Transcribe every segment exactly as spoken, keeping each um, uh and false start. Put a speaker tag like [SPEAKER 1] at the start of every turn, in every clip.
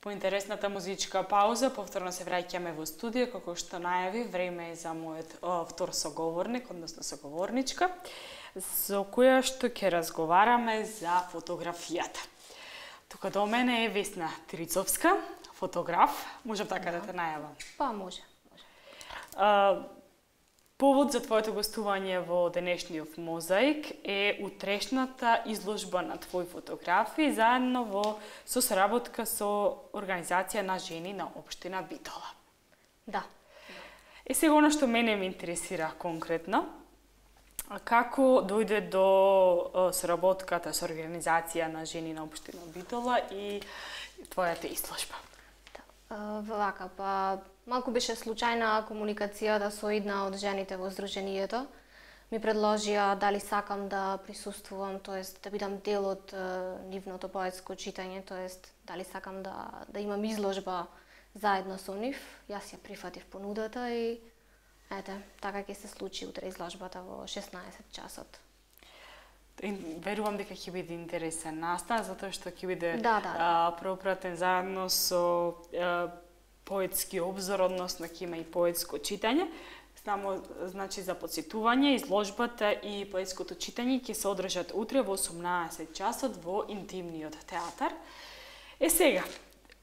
[SPEAKER 1] По интересната музичка пауза, повторно се враќаме во студио, како што најави, време е за мојот о, втор соговорник, односно соговорничка, со која што ќе разговараме за фотографијата. Тука до мене е Весна Трицовска, фотограф. Можам така да, да те најавам?
[SPEAKER 2] Па, може. може.
[SPEAKER 1] А, повод за твоето гостување во денешниот Мозаик е утрешната изложба на твои фотографии заедно во со соработка со организација на жени на општина Битола.
[SPEAKER 2] Да.
[SPEAKER 1] Е сега она што мене ме интересира конкретно, како дојде до соработката со организација на жени на општина Битола и твојата изложба?
[SPEAKER 2] Вака, па малку беше случајна комуникацијата со една од жените во Сдруженијето. Ми предложија дали сакам да присуствувам, тоест да бидам дел од нивното поетско читање, тоест дали сакам да, да имам изложба заедно со нив. Јас ја прифатив понудата и ете, така ќе се случи утре изложбата во шеснаесет часот.
[SPEAKER 1] Верувам дека ќе биде интересен настан, затоа што ќе биде
[SPEAKER 2] да, да, да.
[SPEAKER 1] пропратен заедно со а, поетски обзор, односно ќе има и поетско читање. Само значи за подсетување, изложбата и поетското читање ќе се одржат утре во осумнаесет часот во Интимниот театар. Е сега,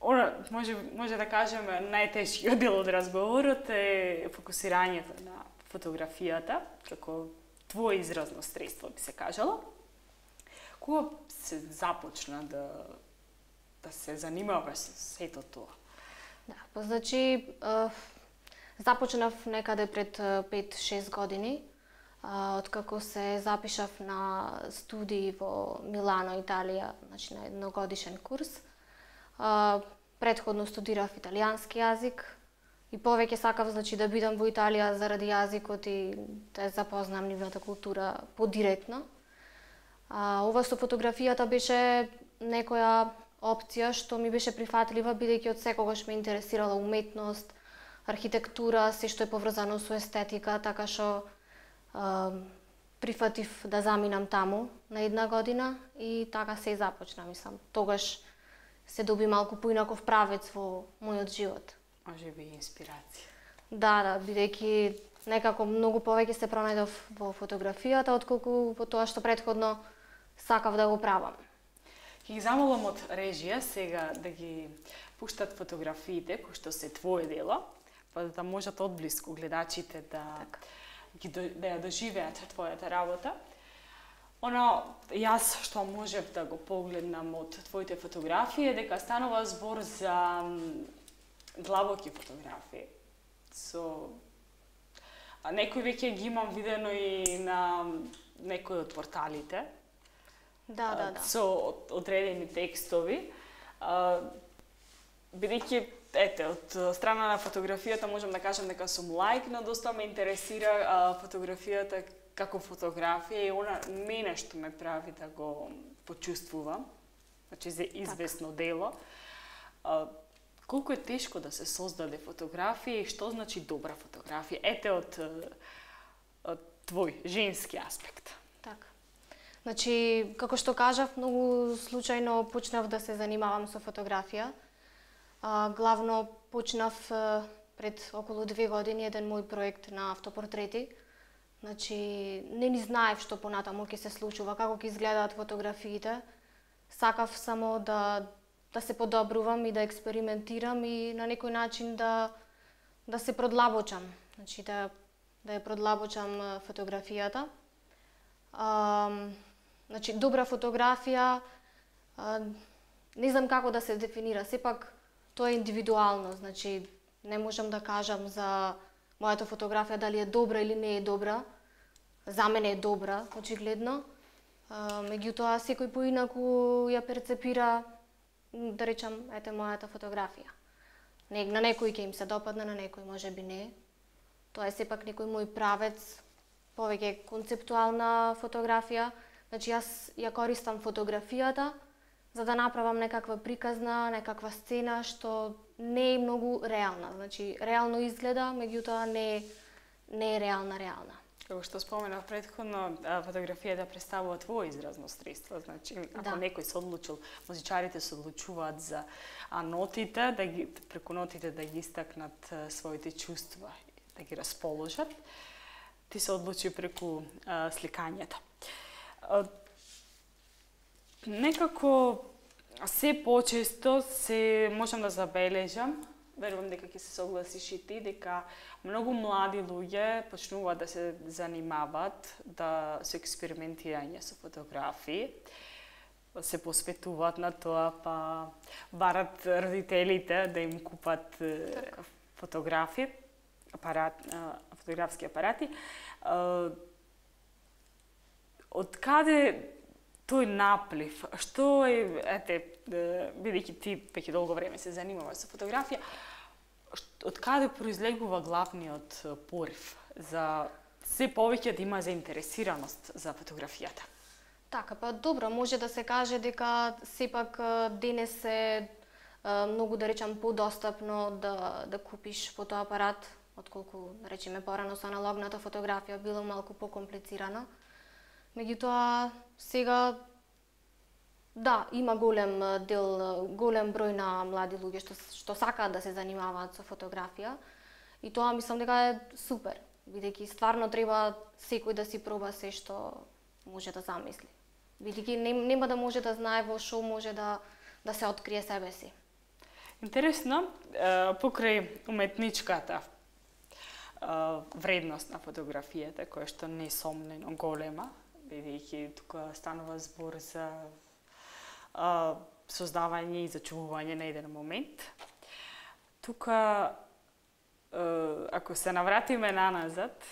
[SPEAKER 1] она, може, може да кажеме, најтешкиот дел од разговорот е фокусирањето на фотографијата, како твое изразно средство, би се кажало. Кога се започна да, да се занимаваш со сето тоа?
[SPEAKER 2] Да, па значи, е, започнав некаде пред пет-шест години, е, откако се запишав на студии во Милано, Италија, значи на едногодишен курс. Е, предходно студирав италијански јазик, и повеќе сакав значи да бидам во Италија заради јазикот и да запознам нивната култура подиректно. А, ова со фотографијата беше некоја опција што ми беше прифатлива, бидејќи од секогаш ме интересирала уметност, архитектура, се што е поврзано со естетика, така што а, прифатив да заминам таму на една година и така се и започна, мислам. Тогаш се доби малку поинаков правец во мојот живот.
[SPEAKER 1] Може би инспирација.
[SPEAKER 2] Да, да, бидејќи некако многу повеќе се пронајдов во фотографијата, отколку во тоа што предходно сакав да го правам.
[SPEAKER 1] Ќе ги замолам од режија сега да ги пуштат фотографиите, кои што се твое дело, па да можат одблиску гледачите да,
[SPEAKER 2] така.
[SPEAKER 1] ги, да ја доживеат твојата работа. Оно, јас што можев да го погледнам од твоите фотографии е дека станува збор за длабоки фотографии. Со а некои веќе ги имам видено и на некои од порталите.
[SPEAKER 2] Да, да, да.
[SPEAKER 1] Со одредени текстови. Бидејќи ете од страна на фотографијата можам да кажам дека сум лаик, но доста ме интересира а, фотографијата како фотографија и она мене што ме прави да го почувствувам. Значи за известно така. Дело. А, колку е тешко да се создаде фотографија и што значи добра фотографија? Ете од, од твој женски аспект.
[SPEAKER 2] Така. Значи, како што кажав, многу случајно почнав да се занимавам со фотографија. А, главно почнав пред околу две години еден мој проект на автопортрети. Значи, не ни знаев што понатаму ќе се случува, како ќе изгледаат фотографиите. Сакав само да да се подобрувам и да експериментирам и на некој начин да да се продлабочам, значи да да ја продлабочам фотографијата. А, значи добра фотографија а, не знам како да се дефинира, сепак тоа е индивидуално, значи не можам да кажам за мојата фотографија дали е добра или не е добра. За мене е добра, очигледно. А, меѓутоа секој поинаку ја перцепира, да речам, ете мојата фотографија. Не, на некој ќе им се допадне, на некој може би не. Тоа е сепак некој мој правец, повеќе концептуална фотографија. Значи јас ја користам фотографијата за да направам некаква приказна, некаква сцена што не е многу реална. Значи реално изгледа, меѓутоа не не е реална реална.
[SPEAKER 1] Како што споменав претходно, фотографијата представува твое изразно средство. Значи, ако да. Некој се одлучил, музичарите се одлучуваат за нотите, да ги, преку нотите да ги истакнат своите чувства, да ги расположат. Ти се одлучи преку а, сликањето. А, некако се почесто се можам да забележам, верувам дека ќе се согласиш и ти, дека многу млади луѓе почнуваат да се занимаваат да со експериментирање со фотографии, се посветуваат на тоа, па барат родителите да им купат так. фотографии, апарат, фотографски апарати. Од каде тој наплив? Што е, ете, бидејќи ти веќе долго време се занимаваш со фотографија, од каде произлегува главниот порив за се повеќе да има заинтересираност за фотографијата?
[SPEAKER 2] Така, па добро, може да се каже дека сепак денес е многу, да речам, подостапно да, да купиш фотоапарат, отколку, да речеме, порано со аналогната фотографија било малку покомплицирано. Меѓутоа, сега, да, има голем дел, голем број на млади луѓе што, што сакаат да се занимаваат со фотографија. И тоа мислам дека е супер, бидејќи стварно треба секој да си проба се што може да замисли. Бидејќи нема да може да знае во што може да, да се открие себе си.
[SPEAKER 1] Интересно, покрај уметничката вредност на фотографијата, која што несомнено голема, бидејќи тука станува збор за а, создавање и зачувување на еден момент. Тука, а, ако се навратиме наназад,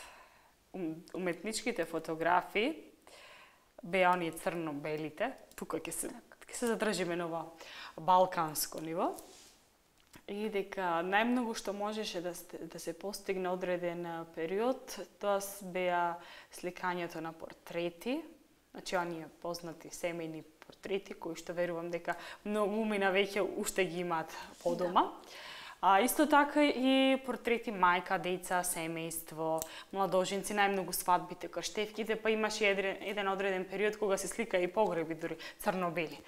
[SPEAKER 1] уметничките фотографии беа оние црно-белите, тука ќе се, ќе се задржиме на ова балканско ниво, и дека најмногу што можеше да, да се постигне одреден период, тоа беа сликањето на портрети, значи оние познати семејни портрети, кои што верувам дека многу умина веќе уште ги имаат подома. Да. А исто така и портрети мајка, деца, семејство, младоженци, најмногу свадбите, крштевките, па имаше еден, еден одреден период кога се слика и погреби, дури црно-бели.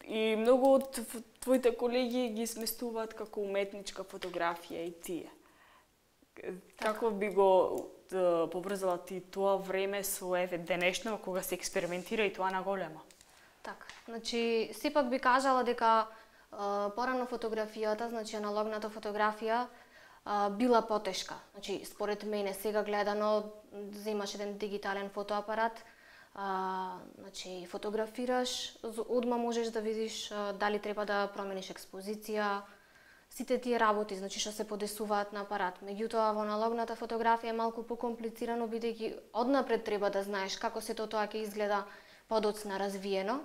[SPEAKER 1] И многу од твоите колеги ги сместуваат како уметничка фотографија и тие. Како би го да, поврзала ти тоа време со еве денешно кога се експериментира и тоа на големо?
[SPEAKER 2] Така, значи сепак би кажала дека порано фотографијата, значи аналогната фотографија, била потешка. Значи според мене сега гледано земаш еден дигитален фотоапарат, А, значи, фотографираш, одма можеш да видиш а, дали треба да промениш експозиција, сите тие работи, значи што се подесуваат на апарат. Меѓутоа, во аналогната фотографија е малку покомплицирано, бидејќи однапред треба да знаеш како сето тоа ќе изгледа подоцна развиено.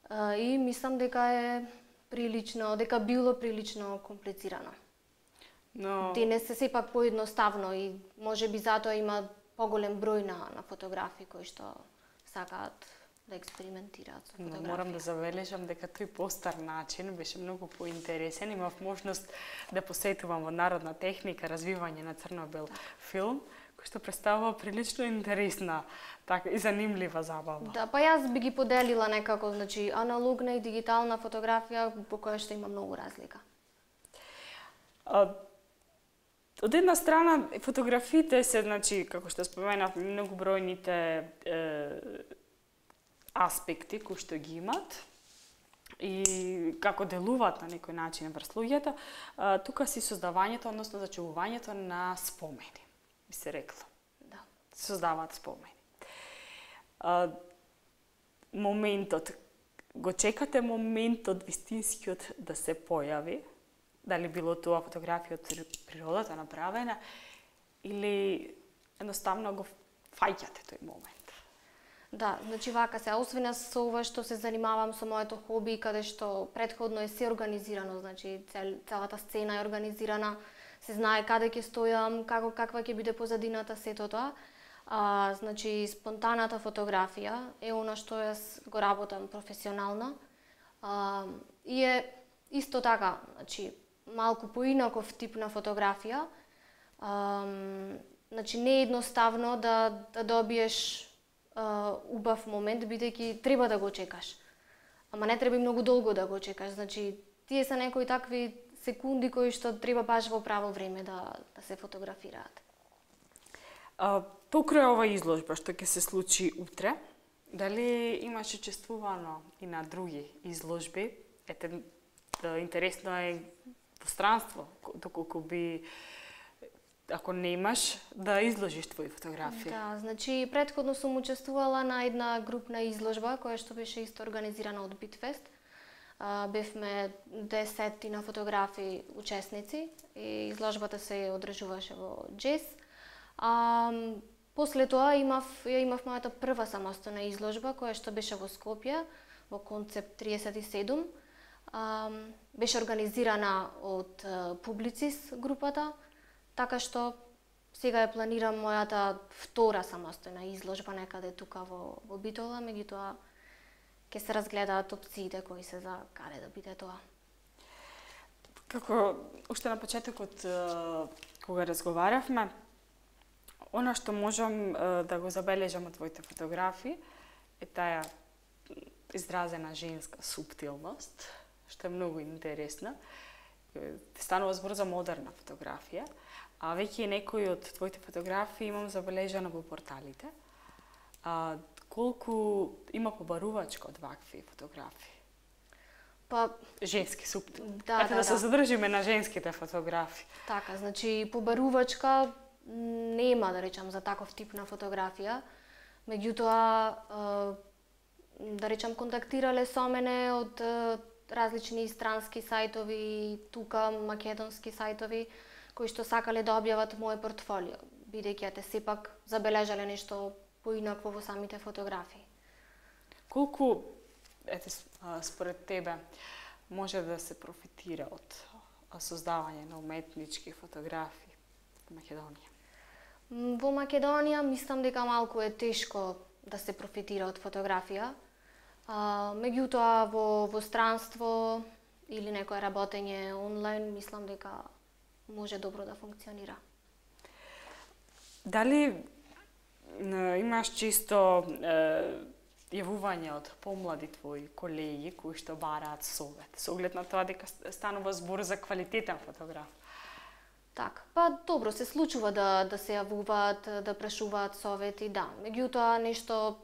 [SPEAKER 2] А, и мислам дека е прилично, дека било прилично комплицирано.
[SPEAKER 1] Но
[SPEAKER 2] денес е сепак поедноставно и можеби затоа има поголем број на, на фотографии кои што сакаат да експериментираат со фотографија.
[SPEAKER 1] Но морам да забележам дека тој постар начин беше многу поинтересен. Имав можност да посетувам во Народна техника развивање на црно-бел филм, кој што представува прилично интересна така и занимлива забава.
[SPEAKER 2] Да, па јас би ги поделила некако, значи аналогна и дигитална фотографија по која што има многу разлика.
[SPEAKER 1] А, од една страна фотографиите се, значи како што споменав, многу бројните е, аспекти кои што ги имат и како делуваат на некој начин врз луѓето, тука си создавањето, односно зачувувањето на спомени, би се рекло.
[SPEAKER 2] Да.
[SPEAKER 1] Создаваат спомени. А, моментот, го чекате моментот вистинскиот да се појави, дали било тоа фотографија од природата направена, или едноставно го фаќате тој момент?
[SPEAKER 2] Да, значи вака се, освен со ова што се занимавам со моето хоби, каде што предходно е се организирано, значи цел, целата сцена е организирана, се знае каде ќе стојам, како каква ќе биде позадината, сето тоа. А, значи спонтаната фотографија е она што јас го работам професионално. А, и е исто така, значи малку поинаков тип на фотографија. А, Значи не е едноставно да да добиеш а, убав момент, бидејќи треба да го чекаш. Ама не треба и многу долго да го чекаш. Значи тие се некои такви секунди кои што треба баш во право време да да се фотографираат.
[SPEAKER 1] А, покрај ова изложба што ќе се случи утре, дали имаш учествувано и на други изложби? Ете, да, интересно е во странство, доколку би, ако не имаш, да изложиш твои фотографии.
[SPEAKER 2] Да, значи претходно сум учествувала на една групна изложба која што беше исто организирана од Битфест. А, бевме десетина фотографи учесници и изложбата се одржуваше во Джес. А, после тоа имав, ја имав мојата прва самостојна изложба која што беше во Скопје, во Концепт триесет и седум. А, беше организирана од Публицис групата, така што сега ја планирам мојата втора самостојна изложба некаде тука во, во Битола, меѓутоа ќе се разгледаат опциите кои се за каде да биде тоа.
[SPEAKER 1] Како уште на почетокот кога разговаравме, она што можам да го забележам од твоите фотографии е таа изразена женска суптилност, што е многу интересна. Станува збор за модерна фотографија, а веќе некои од твоите фотографии имам забележано во порталите. А, колку има побарувачка од вакви фотографии?
[SPEAKER 2] Па
[SPEAKER 1] женски суптил.
[SPEAKER 2] Да,
[SPEAKER 1] Ете да,
[SPEAKER 2] да,
[SPEAKER 1] се
[SPEAKER 2] да.
[SPEAKER 1] задржиме на женските фотографии.
[SPEAKER 2] Така, значи побарувачка нема, да речам, за таков тип на фотографија. Меѓутоа, да речам, контактирале со мене од различни странски сајтови, тука македонски сајтови, кои што сакале да објават моје портфолио, бидејќи те сепак забележале нешто поинакво во самите фотографии.
[SPEAKER 1] Колку, ете, според тебе, може да се профитира од создавање на уметнички фотографии во Македонија?
[SPEAKER 2] Во Македонија мислам дека малку е тешко да се профитира од фотографија. А, меѓутоа во, во странство или некое работење онлайн, мислам дека може добро да функционира.
[SPEAKER 1] Дали имаш чисто е, јавување од помлади твои колеги кои што бараат совет, со оглед на тоа дека станува збор за квалитетен фотограф?
[SPEAKER 2] Така, па добро, се случува да, да се јавуваат, да прашуваат совети, да. Меѓутоа, нешто,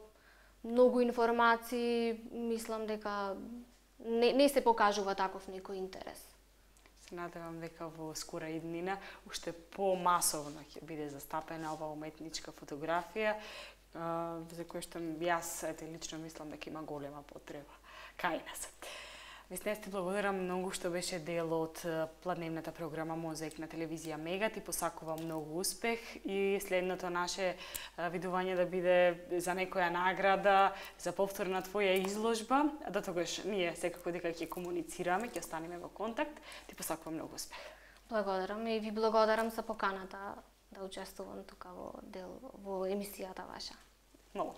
[SPEAKER 2] многу информации, мислам дека не, не се покажува таков некој интерес.
[SPEAKER 1] Се надевам дека во скора иднина уште помасовно ќе биде застапена ова уметничка фотографија, за која што јас ете, лично мислам дека има голема потреба кај нас. Веснес ти благодарам многу што беше дел од планедната програма Мозаик на телевизија Мега. Ти посакувам многу успех и следното наше видување да биде за некоја награда, за повтор на твоја изложба. До тогаш ние секако дека ќе комуницираме, ќе останеме во контакт. Ти посакувам многу успех.
[SPEAKER 2] Благодарам и ви благодарам за поканата да учествувам тука во дел во емисијата ваша.
[SPEAKER 1] Многу.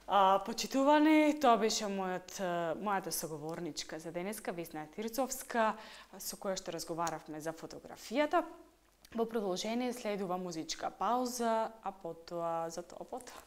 [SPEAKER 1] А, почитувани, тоа беше мојот, мојата соговорничка за денеска, Весна Тирцовска, со која што разговаравме за фотографијата. Во продолжение следува музичка пауза, а потоа за тоа потоа.